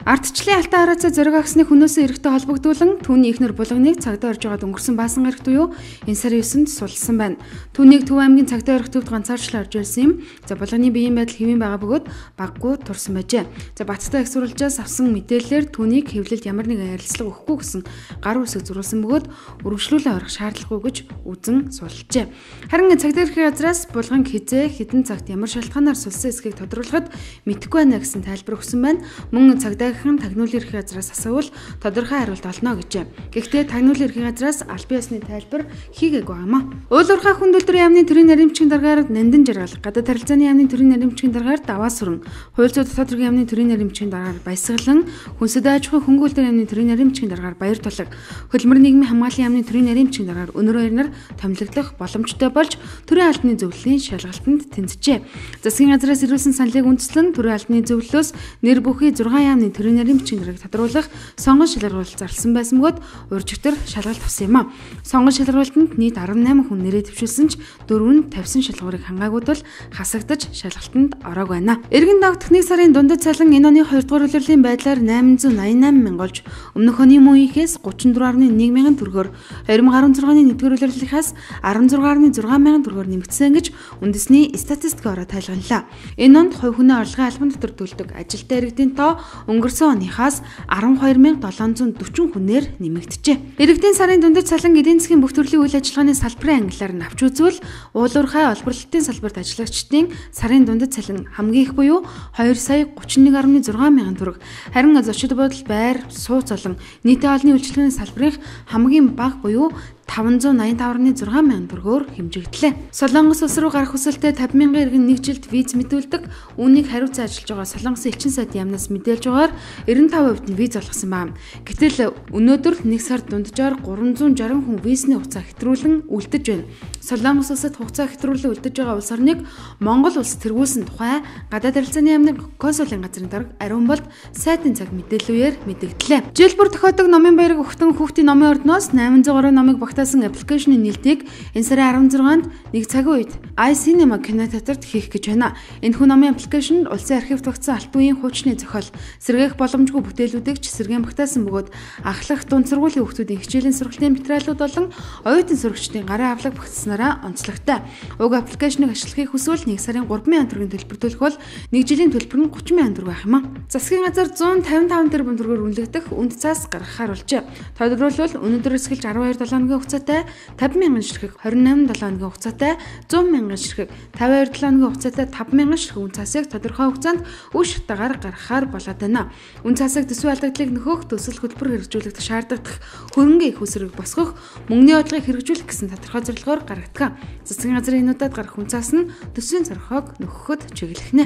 Ардчлалын алтан хараацаа зориг агсны хүнөөсөө эрэхтэй холбогдуулан түүний ихнэр булганыг цагдаа орж байгаад өнгөрсөн баасан гарагт буюу энэ сарын 9-нд сулсан байна. Түүнийг Төв аймгийн цагдаа орох төвд ганцаарчлан орж ирсэн юм. За булганы биеийн байдал хэвэн байгаа бөгөөд баггүй турсан байжээ. За Батттай их сурвалжаас авсан мэдээлэлээр түүнийг хэвлэлд ямар нэгэн ярилцлага өгөхгүй гэсэн гар үсэг зурулсан бөгөөд үргэлжлүүлэн орох шаардлагагүй гэж үзэн сулжээ. Харин цагдаа эрхийн газраас булган хизээ хэдэн цагт ямар шалтгаанаар сулсан эсэхийг тодруулахад мэдэхгүй байна гэсэн тайлбар өгсөн байна. Мөн цагдаагийн тагнуулын эрхийн газраас асуувал тодорхой хариулт олно гэжээ. Гэхдээ тагнуулын эрхийн газраас аль бие усны тайлбар хийгээгүй юмаа. Уулуурхай хүндлэлтүрийн яамны төрийн наримчгийн даргаар нандин жаргал, гадаад харилцааны яамны төрийн наримчгийн даргаар даваа сүрэн, хууль зүйн дотоод хэргийн яамны төрийн наримчгийн даргаар баясгалан, хүнсэд аж ахуйн хөнгөлөлтийн яамны төрийн наримчгийн даргаар баяр тулаг, хөдөлмөр нийгмийн хамгааллын яамны төрийн наримчгийн даргаар өнөр баярнаар томилогдох боломжтой болж төрийн албаны зөвлөлийн шалгалтанд тэнцжээ. Засгийн газраас ирүүлсэн саналыг үндэслэн төрийн албаны зөвлөлөөс нэр бүхий 6 яамны төрийн наримчгийн даргаыг тодруулах сонгон шалгаруулалт зарласан байсан бөгөөд урьдчилан шалгалт авсан юм а. Сонгон шалгаруулалтанд нийт 18 хүн нэрээ төвшүүлсэн ч 4 нь тавьсан шалгуурыг хангаагүй тул хасагдаж шалгалтанд ороог байна. Эргэн давтах 1 сарын дундад цалин энэ оны 2 дугаар улирлын байдлаар 888 мянга болж өмнөх оны мөн үеийнхээс 34.1 мянган төгрөгөөр 2016-ны 1-р улирлынхаас 16.6 мянган төгрөгөөр нэмэгдсэн гэж үндэсний статистикийн ороо тайлганлаа. Энэ онд хувь хүний орлогын албан дотор төлдөг ажилтаа иргэдийн тоо өнгөрсөн оныхаас 12,740 хүнээр нэмэгджээ. Иргэдийн сарын дундад цалин эдийн засгийн бүх төрлийн үйл ажиллагааны салбарын ангиллаар нь авч үзвэл уулуурхай олборлолтын салбарт ажиллагчдын сарын дундад цалин хамгийн их буюу 2,31.6 мянган төгрөг. Харин зочид буудал, байр, сууц олон нийтийн олонний үйлчлэгээний салбарын хамгийн бага буюу 585.6 мянган төгрөгөөр хэмжигдлээ. Солонгос улс руу гарах хүсэлтэй 50 мянган иргэн нэг жилд виз мэдүүлдэг. Үүнийг хариуцсан ажиллаж байгаа Солонгосын элчин сайд яамнаас мэдээлж байгаагаар 95% нь виз олгосон байна. Гэтэл өнөөдөр 1 сард дунджаар 360 хүн визний хугацаа хэтрүүлэн үлдэж байна. Солонгос улсад хугацаа хэтрүүлэн үлдэж байгаа улс орныг Монгол улс тэргүүлсэн тухай гадаад харилцааны яамны консулын газрын дарга Ариун болд сайтын цаг мэдээллээр мэдэгдлээ. Жил бүр тохиодог номын баярыг өгтөн хүүхдийн номын ордноос 803 номыг багтаасан аппликейшны нэлтийг энэ сарын 16-нд нэг цагийн үед iCinema кинотеатрт хийх гэж байна. Энэхүү номын аппликейшнд улсын архивт багтсан алт үеийн хуучны зохиол, сэргээх боломжгүй бүтээлүүдийг ч сэргээн багтаасан бөгөөд ахлах дунд сургуулийн хүүхдүүдийн хичээлийн сургалтын материалууд болон оюутан сурагчдын гарын авлага багтснараа онцлогтой. Уг аппликейшнийг ашиглахыг хүсвэл 1 сарын 3,000 төгрөгийн төлбөр төлөх бол 1 жилийн төлбөр нь 30,000 төгрөг байх юм а. Засгийн газар 155 тэрбум төгрөгөөр үнэлэгдэх үнд цаас гаргахаар болжээ. Тодорхойлбол өнөөдөр эсгэлж 12 7-ны хугацаатай 50 мянган ширхэг, 28 7-ны хугацаатай 100 мянган ширхэг, 52 7-ны хугацаатай 5 мянган ширхэг үн цасыг тодорхой хугацаанд үе шатаагаар гаргахаар болоод байна. Үн цасыг төсвийн алдагдлыг нөхөх, төсөл хөтөлбөр хэрэгжүүлэх шаардлагатай хөрөнгөний их усрыг босгох, мөнгөний бодлогыг хэрэгжүүлэх гэсэн тодорхой зорилгоор гаргадаг. Засгийн газрын энэ удаад гарах үн цас нь төсвийн зорилгыг нөхөхөд чиглэх нэ.